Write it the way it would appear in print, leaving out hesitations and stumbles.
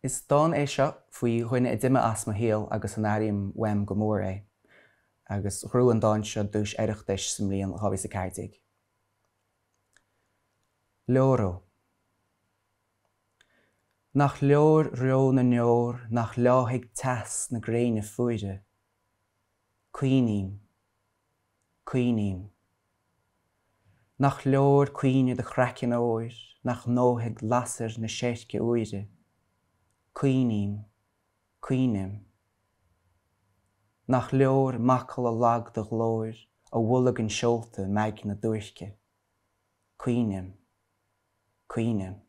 Is dán é seo faoi dhuine a d'imigh as mo shaol agus an airím uaim go mór é. Agus ghnóthaigh an dán seo duais Oireachtais sa mbliain 2014. Leor. Nach leor reo na ndeor nach leáfaidh teas na gréine fuaire? Caoiním. Caoiním. Nach leor caoineadh do chraiceann óir nach ndófaidh lasair na seirce úire? Caoiním. Caoinim. Nach leor macalla lag do ghlóir a bholgann seolta m'aigne duairce? Caoinim. Caoinim.